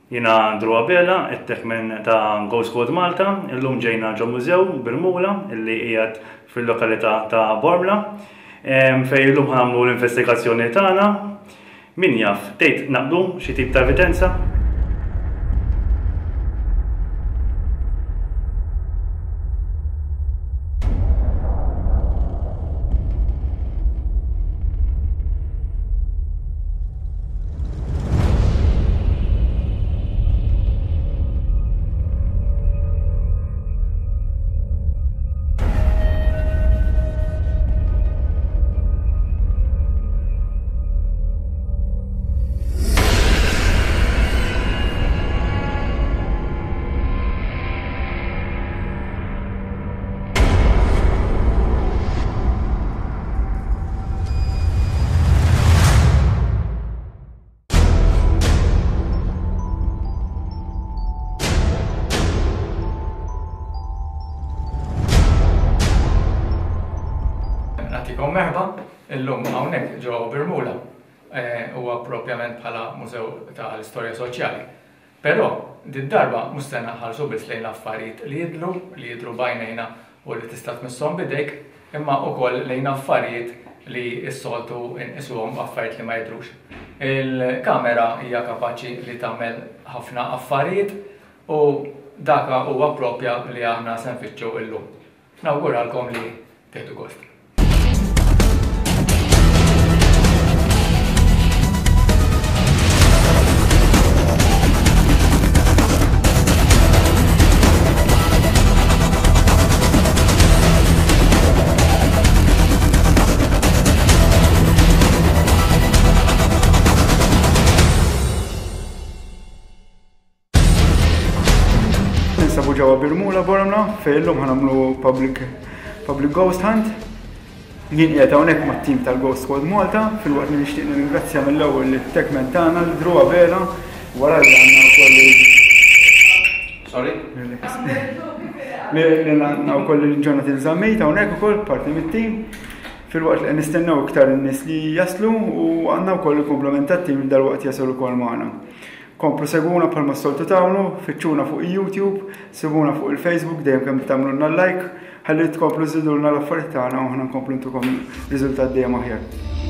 Jiena Andrew Abela, it-techman ta' Go Squad Malta. Illum ġejna ġo mużew Birmula illi qiegħed fil-lokalità ta' Bormla. Fejn illum ħa nagħmlu l-investigazzjoni tagħna. Min jaf, tgħid naqbdu xi tip ta' evidenza? Nagħtikom merħba illum hawnhekk ġo Birmula eh, huwa propjament bħala Mużew tal-Istorja Soċjali. Però, did-darba mhux se naħarsu biss lejn affarijiet li jidhru, li jidhru b'għajnejna u li tista' tmisshom b'idejk, imma ukoll lejn affarijiet li s-soltu nqisuhom affarijiet li ma jidhrux. Il-kamera hija kapaċi li tagħmel ħafna affarijiet u daka huwa propja li aħna se nfittxu illum. Nawguralkom li tieħdu gost. Ninsabu ġewwa Birmula Bormla fejn illum ħanamlu public public ghost hunt. Jien qiegħed hawnhekk mat-tim tal-Ghost Squad Malta filwaqt li nixtieq nirringrazzja mill-ewwel lit-techman tagħna lil Drew Abela wara li għandna wkoll Sorry? Li għandna wkoll lil Jonathan Zammit hawnhekk ukoll parti mit-tim. Filwaqt li qed nistennew iktar in-nies li jaslu u għandna wkoll il-komplement tat-tim li dalwaqt jasal ukoll magħna. Komplu segwuna bħalma s-soltu tagħmlu, fittxuna fuq YouTube, sibuna fuq il-Facebook dejjem kemm tagħmlulna like, ħalli tkomplu żidulna l-affarijiet tagħna u aħna nkomplu ntukom riżultat dejjem aħjar.